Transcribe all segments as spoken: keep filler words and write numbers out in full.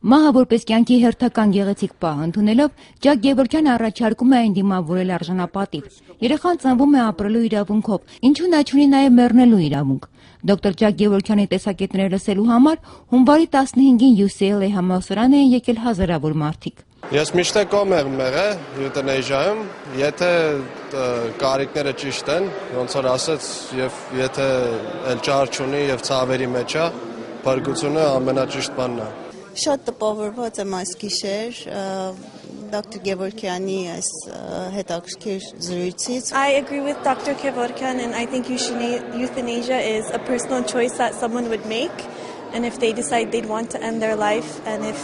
Մահը որպես կեանքի հերթական գեղեցիկ պահ ընդունելով՝ Ճակ Գևորգյանը առաջարկում է այն դիմավորել արժանապատիվ։ Երեխան ծնվում է ապրելու իրավունքով, ինչու՞ նա չունի նաև մեռնելու իրավունք։ Դոկտոր Ճակ Գևորգյանի տեսակետները լսելու համար հունվարի տասնհինգին յու սի էլ էյ համալսարան էին եկել հազարավոր մարդիկ։ Ես միշտ կողմ եմ եղել յուտենեժիայում, եթե, ը, կարիքները ճիշտ են, ոնց որ ասեց, եւ եթե էլ ճար չունի եւ ցավերի մեջ է, փրկությունը ամենաճիշտ բանն է։ Շատ տպավորված եմ այս գիշեր, ը, դոկտոր Գևորգյանի այս, ը, հետաքրքիր զրույցից։ I agree with Doctor Kevorkian, and I think euthana- euthanasia is a personal choice that someone would make. And if they decide they'd want to end their life, and if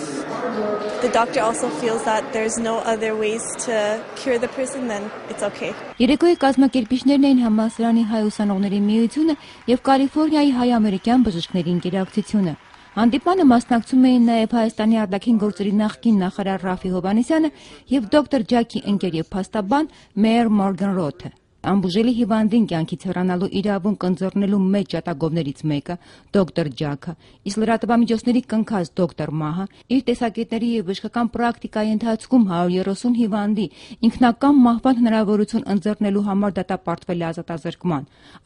the doctor also feels that there's no other ways to cure the person, then it's okay. Երեկոյի կազմակերպիչներն էին համալսարանի հայ ուսանողների միությունը և Կալիֆոռնիայի հայ-ամերիկյան բժիշկների ընկերակցությունը։ Հանդիպմանը մասնակցում էին նաև Հայաստանի արտաքին գործերի նախկին նախարար Ռաֆի Հովհաննիսյանը և դոկտոր Ջաքի ընկեր և փաստաբան Մէյր Մորգան Ռոթը։ Անբուժելի հիվանդին կեանքից հեռանալու իրավունք ընձեռնելու մեջ ջատագովներից մեկը՝ դոկտոր Ջաքը, իսկ լրատվամիջոցների կնքած դոկտոր Մահը, իր տեսակետների և բժշկական պրակտիկայի ընթացքում հարիւր երեսուն հիվանդի ինքնակամ մահուան հնարաւորութիւն ընձեռնելու համար դատապարտվել է ազատազրկման։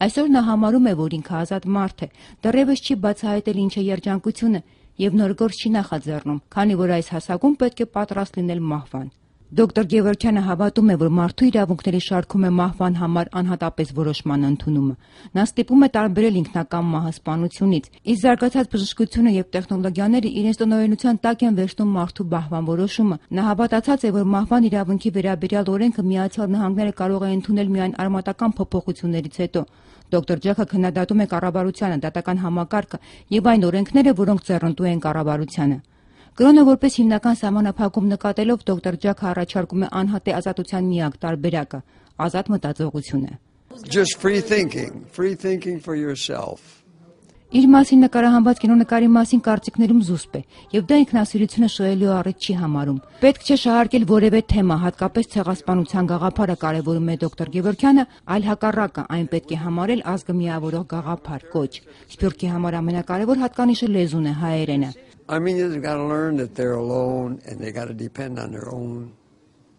Այսօր նա համարում է, որ ինքը ազատ մարդ է, դեռեւս չի բացահայտել ինչ է երջանկությունը և նոր գործ չի նախաձեռնում, քանի որ այս հասակում պետք է պատրաստ լինել մահուան։ Դոկտոր Գևորգյանը հավատում է, որ մարդու իրավունքների շարքում է մահվան համար անհատապես որոշման ընդունումը։ Նա ստիպում է տարբերել ինքնակամ մահը սպանությունից, իսկ զարգացած բժշկությունը և տեխնոլոգիաները իրենց տնօրինության տակ են վերցնում մարդու մահվան որոշումը։ Նա հավատացած է, որ մահվան իրավունքի վերաբերյալ օրենքը Միացյալ Նահանգները կարող է ընդունել միայն արմատական փոփոխություններից հետո։ Դոկտոր Ջաքը քննադատում է կառավարությանը, դատական համակարգը և այն օրենքները, որոնք ձեռնտու են կառավարությանը։ Կրօնը որպես հիմնական սահմանափակում նկատելով՝ դոկտոր Ջաքը առաջարկում է անհատի ազատության միակ տարբերակը՝ ազատ մտածողությունը։ Just free thinking, free thinking for yourself. Իր մասին նկարահանված կինոնկարի մասին կարծիքներում զուսպ է, և դա ինքնասիրությունը շոյելու առիթ չի համարում։ Պետք չէ շահարկել որևէ թեմա, հատկապես ցեղասպանության գաղափարը կարևորում է դոկտոր Գևորգյանը, այլ հակառակը, այն պետք է համարել ազգը միավորող գաղափար, կոչ։ Սփիւռքի համար ամենակարեւոր հատկանիշը լեզուն է, հայերէնը։ Armenians got to learn that they're alone and they got to depend on their own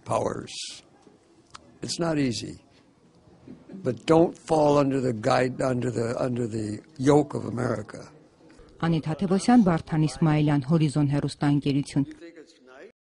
powers. It's not easy. But don't fall under the guide, under the, under the yoke of America. Անիթա Թևոսյան, Վարդան Իսմայելյան, Հորիզոն հեռուստաընկերություն։